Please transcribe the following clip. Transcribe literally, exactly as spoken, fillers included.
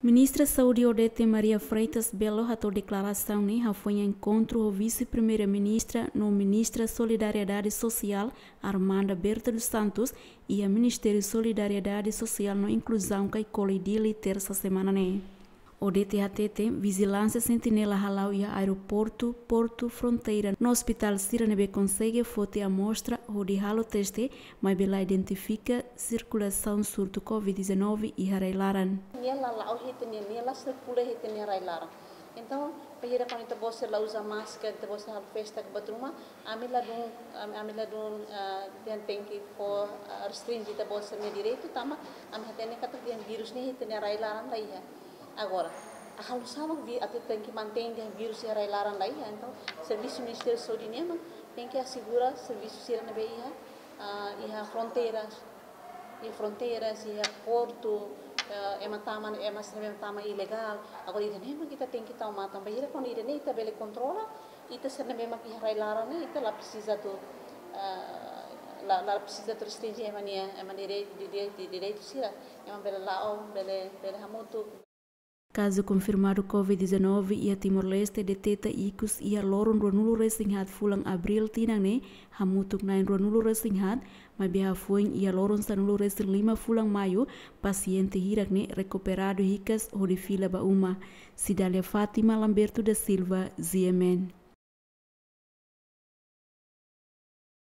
Ministra Saúde Odete Maria Freitas Belo hato'o deklarasaun ne'e hafoin enkontru ho Vise-Primeira-Ministra no Ministra Solidariedade Sosiál Armanda Berta dos Santos iha Ministériu Solidariedade Sosiál no Inkluzaun Kaikoli, Dili, tersa semana ne'e. Odete hateten vijilánsia sentinela hala'o iha aeroportu, portu, fronteira no ospitál sira ne'ebé konsege foti amostra hodi halo teste, maibé la identifika sirkulasaun surtu covid dezanove iha rai-laran. Nia la la'o iha ita-nia, nia la sirkula iha ita-nia rai-laran. Entaun, bainhira kuandu ita-boot sira la uza máskara, ita-boot sira halo festa ka buat ruma, ami ladún, ami, ami ladún, ah, ita tenke fó, ah, restrinje ita-boot sira-nia direitu, tanba ami hatene katak vírus ne'e iha ita-nia rai-laran la iha. Agora, halo saida mak vi-, atu tenke mantein dehan vírus iha rai-laran la iha. Entaun, servisu Ministériu Saúde nian mak tenke asegura servisu sira ne'ebé iha, ah, iha fronteiras, iha fronteiras, iha portu, eh, ema tama, ema sira ne'ebé tama ilegál. Agora, ida-ne'e mak ita tenke tau matan. Bainhira kuandu ida-ne'e ita bele kontrola, ita sira ne'ebé mak iha rai-laran ne'e, ita la presiza atu, eh, la, la presiza atu restrinje ema nia, ema direitu, di, di, di, direitu sira. Ema bele la'o, bele, bele hamutuk. Kazu konfirmadu covid dezanove iha Timor-Leste deteta ikus iha loron ruanulu-resin-haat fulan Abríl tinan ne'e hamutuk na'in ruanulu-resin-haat, maibé hafoin iha loron sanulu-resin-lima fulan Maiu, pasiente hirak ne'e rekuperadu hikas hodi fila ba uma. Cidália Fátima, Lamberto da Silva, G M N.